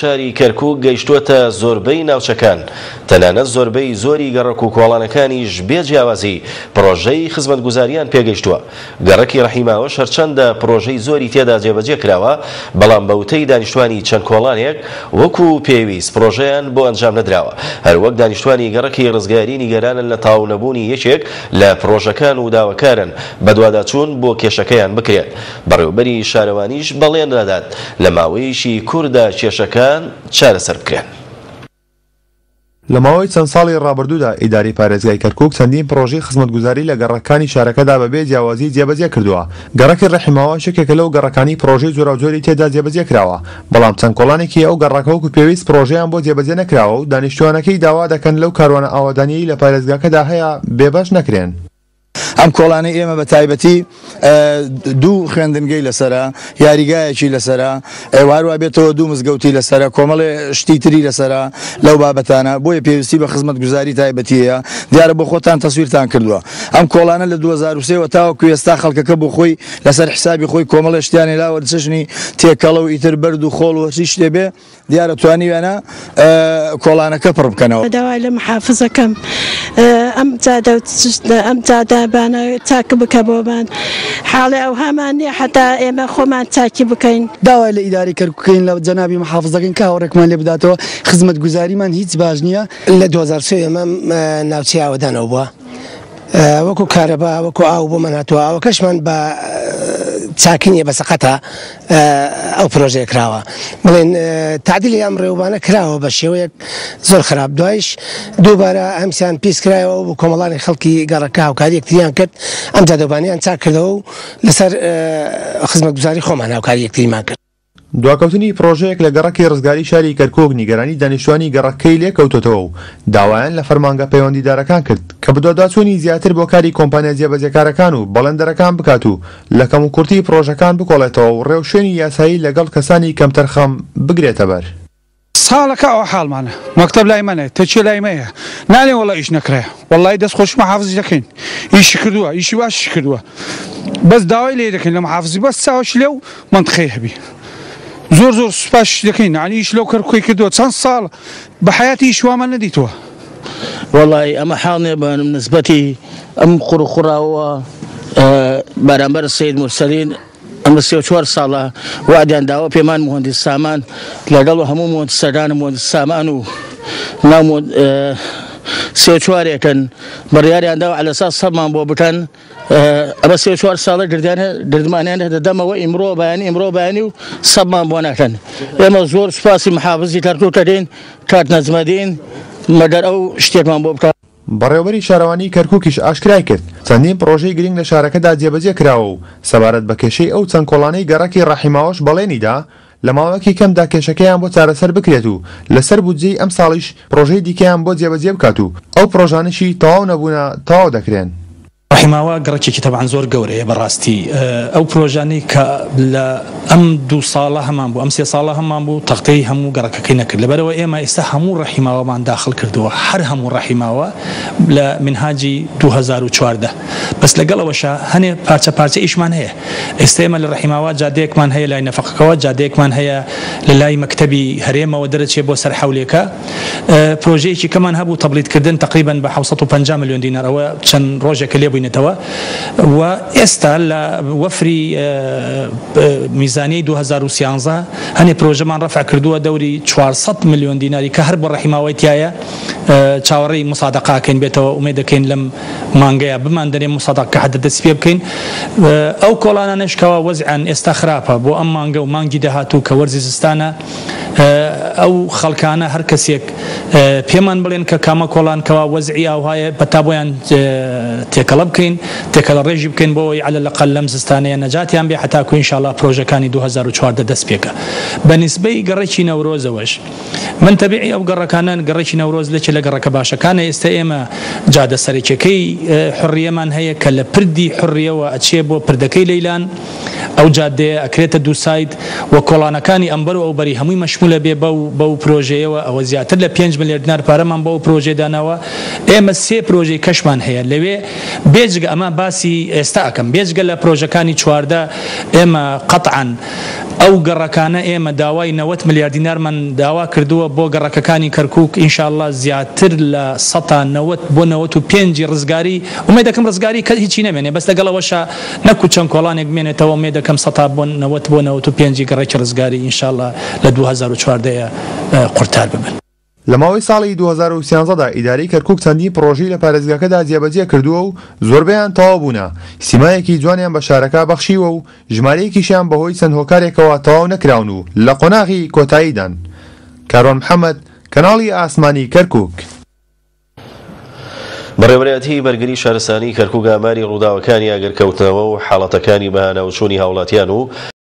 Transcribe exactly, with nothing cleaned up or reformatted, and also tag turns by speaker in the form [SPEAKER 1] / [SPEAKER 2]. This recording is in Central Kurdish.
[SPEAKER 1] شاری کەرکوک گەیشتووەتە زۆربەی ناوچەکان، تەنانەت زۆربەی زۆری گەڕەک و کۆڵانەکانیش بێ جیاوازی پرۆژەی خزمەتگوزاریان پێگەیشتووە. گەڕەکی ڕەحیماوەش هەرچەندە پرۆژەی زۆری تێدا جێبەجێ کراوە، بەڵام بە وتەی دانیشتوانی چەند کۆڵانێک وەکو پێویست پرۆژەیان بۆ ئەنجام نەدراوە. هەروەک دانیشتوانی گەڕەکی ڕزگاری نیگەرانن لە تەواو نەبوونی یەکێک لە پرۆژەکان و داواکارن بەدواداچوون بۆ کێشەکەیان بکرێت. بەڕێوەبەری شارەوانیش بەڵێن دەدات لە ماوەیەکی کووردا کێشەکان چارەسەر بکرێن.
[SPEAKER 2] لە ماوەی چەند ساڵی ڕابردوودا ئیداری پارێزگای کەرکوک چەندین پرۆژەی خزمەتگوزاری لە گەڕەکانی شارەکەدا بەبێ جیاوازی جێبەجێ کردووە. گەڕەکی ڕەحیماوە یەکێکە لەو گەڕەکانی پرۆژەی جۆراوجۆری تێدا جێبەجێ کراوە، بەڵام چەند کۆڵانێکی ئەو گەڕەکە وەکو پێویست پرۆژەیان بۆ جێبەجێ نەکراوە و دانیشتوانەکەی داوا دەکەن لەو کاروانە ئاوادانیەی لە پارێزگاکەدا هەیە بێبەش نەکرێن.
[SPEAKER 3] ئەم کۆڵانەی ئێمە بە تایبەتی دوو خوێندنگەی لەسەرە، یاریگایەکی لەسەرە، هەروە بێتەوە دوو مزگەوتی لەسەرە، کۆمەڵێ شتی تری لەسەرە لەو بابەتانە، بۆیە پێویستی بە خزمەتگوزاری تایبەتیەیە. دیارە بۆ خۆتان تەسویرتان کردووە. ئەم کۆڵانە لە دوو هەزار و سێ وە تاوەکو ئێستا خەڵکەکە بۆ خۆی لەسەر حسابی خۆی کۆمەڵێ شتیانێ لاوە چەشنی تێکەڵە و ئیتر بەرد و خۆڵ و هەرچی شتێ بێ، دیارە توانیویانە کۆڵانەکە پڕ بکەنەوە.
[SPEAKER 4] داوای لە محافزەکەم ئەم جادە ئەم جادە بانە چاک بکە بۆمان، حاڵێ ئەو هەمان نییە حتا ئێمە خۆمان چاکی بکەین.
[SPEAKER 5] داوای لە ئیداری کەرکوکەین لە جەنابی محافزەکەین کە هاوڕێکمان لێ بداتەوە، خزمەتگوزاریمان هیچ باش نییە.
[SPEAKER 6] لە دوو هەزار و سێ ئێمە ناوچەی ئاوەدانەوە بووە، وەکو کارەبا وەکو ئاو بۆمان هاتووە، ئاوەکەشمان بە چاکی نییە، بە سەقەتە ئەو پرۆژەیە کراوە. بڵێن تعدیلی ئەم ڕێوبانە کراوە بە شێوەیەک زۆر خراپ. دوایش دووبارە هەمسیان پیس کرایەوە و کۆمەڵانی خەڵکی گەڕەکە هاوکاری یەکتریان کرد، ئەم جادەوبانیان چاک کردەوە و لەسەر خزمەتگوزاری خۆمان هاوکاری یەکتریمان کرد.
[SPEAKER 2] دواکەوتنی پرۆژەیەک لە گەڕەکی ڕزگاری شاری کەرکوک نیگەرانی دانیشتوانی گەڕەکەی لێکەوتۆتەوە و داوایان لە فەرمانگە پەیوەندیدارەکان کرد کە بەدواداچوونی زیاتر بۆ کاری کۆمپانیا جێبەجێکارەکان و بەڵێندەرەکان بکات و لە کەموکورتی پرۆژەکان بکۆڵێتەوە و ڕێوشوێنی یاسایی لەگەڵ کەسانی کەمتەرخەم بگرێتە بەر.
[SPEAKER 7] ساڵەکە ئەو حاڵمانە مەکتەب لای منە، تەچێ لای مەیە، نالێن وەڵا ئیش نەکرایە، وەڵای دەست خۆش محافزی دەکەین، ئیشی کردووە، ئیشی باشیش کردووە، بەس داوای لێ دەکەین لە محافزی بەس چاوەش لێ و منطقەی هەبی. زۆر زۆر سوپاس دەکەین، یعنی ئیش لەو کەرکوکەی کردووە چەند ساڵ بە حیاتی ئیش وامان نەدیتووە.
[SPEAKER 8] وەڵای ئەمە حاڵ نییە بە نسبەتی ئەم قوڕوخوڕاوە بەرامبەر سەید مورسەلین. ئەمە سێ و چوار ساڵە وادیان داوە پێمان مهندس سامان لەگەڵ هەموو مهندسەکان مهندس سامان و ناو سێ و چوارێکن بڕیاریان داوە عەلەساس سەبمان بۆ بکەن. ئەمە سێ و چوار ساڵە گردمانیان دەدەمەوە ئیمڕۆ بەیانی ئیمڕۆ بەیانی و سەبمان بۆ ناکەن. ئێمە زۆر سوپاسی محافزی کەرکوک دەکەین، کاک نەجمەدین، مەگەر ئەو شتێکمان بۆ بکات.
[SPEAKER 2] بەڕێوەبەری شارەوانی کەرکوکیش ئاشکرای کرد چەندین پرۆژەی گرنگ لە شارەکەدا جێبەجێ کراوە و سەبارەت بە کێشەی ئەو چەند کۆڵانەی گەڕەکی ڕەحیماوەش بەڵێنیدا لە ماوەیەکی کەمدا کێشەکەیان بۆ چارەسەر بکرێت و لەسەر بودجەی ئەم ساڵیش پرۆژەی دیکەیان بۆ جێبەجێ بکات و ئەو پرۆژانەشی تەواو نەبوونە تەواو دەکرێن.
[SPEAKER 9] ڕەحیماوە گەڕەکێکی تەبعەن زۆر گەورەیە بەڕاستی. ئەو پرۆژانەی کە لە ئەم دوو ساڵە هەمان بوو، ئەم سێ ساڵە هەمان بوو، تەختەی هەموو گەڕەکەکەی نەکرد. لەبەرەوە ئێمە ئێستا هەموو ڕەحیماوەمان داخل کردووە، هەر هەموو ڕەحیماوە لە منهاجی دوو هەزار و چواردە. بەس لەگەڵ ئەوەشە هەنێ پارچە پارچە ئیشمان هەیە. ئێستا ئێمە لە ڕەحیماوە جادەیەکمان هەیە لای نەفەقەکەوە، جادەیەکمان هەیە لە لای مەکتەبی هەرێمەوە دەرەچێ بۆ سەر حەولێکە. پرۆژەیەکی کەمان هەبوو تەبلیدکردن تقریباً بە حەوت سەد و پەنجا ملیۆن دینار، ئەوە چەند ڕۆژێکە لێ بووینەتەوە و ئێستا لە وەفری میزانیەی دوو هەزار و سیانزە هەنێ پرۆژەمان ڕەفع کردووە دەوری چوار سەد ملیۆن دیناری کە هەر بۆ ڕەحیماوەی تایە. چاوەڕێی مسادەقاکەین بێتەوە، ئومێد دەکەین لەم مانگەیە بمان دەرێ مسادەقە حەدە دەست پێ بکەین. ئەو کۆڵانانەش کەوا وەزعیان ئێستا خراپە بۆ ئەم مانگە و مانگی داهاتوو کە وەرزی زستانە، ئەو خەڵکانە هەر کەسێک پێمان بڵێن کە کامە کۆڵان کەوا وەزعی ئاوهایە پەتا بۆیان تێکەڵە بکەین، تێکەڵە ڕێژی بکەین بۆ ئەوەی عەلە لەقەل لەم زستانەیە نەجاتیان بێ حتاکو ئینشاءڵڵا پرۆژەکانی دوو هەزار و چواردە دەست پێکە. بە نسبەی گەڕەکی نەورۆزەوەش من تەبیعی ئەو گەڕەکانە گەڕەکی نەورۆز لەکێ لە گەڕەکە باشەکانە. ئێستا ئێمە جادە سەرەکیەکەی حڕیەمان هەیە کە لە پردی حڕیەوە ئەچێ بۆ پردەکەی لەیلان. ئەو جادەیە ئەکرێتە دوو side و کۆڵانەکانی ئەمبەر و ئەوبەری هەمووی مەشمولە بێ بەو بەو پرۆژەیەوە. ئەوە زیاتر لە پێنج ملیار دینار پارەمان بەو پرۆژەیە داناوە. ئێمە سێ پرۆژەی کەشمان هەیە لەوێ، بێجگە ئەمە باسی ئێستا ئەکەم، بێجگە لە پرۆژەکانی چواردە ئێمە قەطعاً ئەو گەڕەکانە ئێمە داوای نەوەت ملیار دینارمان داوا کردووە بۆ گەڕەکەکانی کەرکووک، ئینشاءاللە زیاتر لە سەتا نەوەت بۆ نەوەت و پێنجی ڕزگاری، ئومێد دەکەم ڕزگاری کە هیچی نەمێنێ، بەس لەگەڵ ئەوەشا نەکو چەند کۆڵانێک بمێنێتەوە، ئومێد دەکەم سەتا بۆ نەوەت بۆ نەوەت و پێنجی گەڕەکی ڕزگاری ئینشاءاللە لە دوو هەزار و چواردە قورتار ببن.
[SPEAKER 2] لە ماوەی ساڵی دوو هەزار و سیانزەدا ئیدارەی کەرکووک چەندین پرۆژەی لە پارێزگاکەدا جێبەجێ کردووە و زۆربەیان تەواو بوونە، سیمایەکی جوانیان بە شارەکە بەخشیوە و ژمارەیەکیشیان بەهۆی چەند هۆکارێکەوە تەواو نەکراون و لە قۆناغی کۆتاییدان. کاروان محەممەد، کەناڵی ئاسمانی کەرکووک.
[SPEAKER 1] بەڕێوەبەرایەتی بەرگری شارستانی کەرکووک ئاماری ڕووداوەکانی ئاگرکەوتنەوە و حاڵەتەکانی بەهاناوچوونی هاوڵاتیان و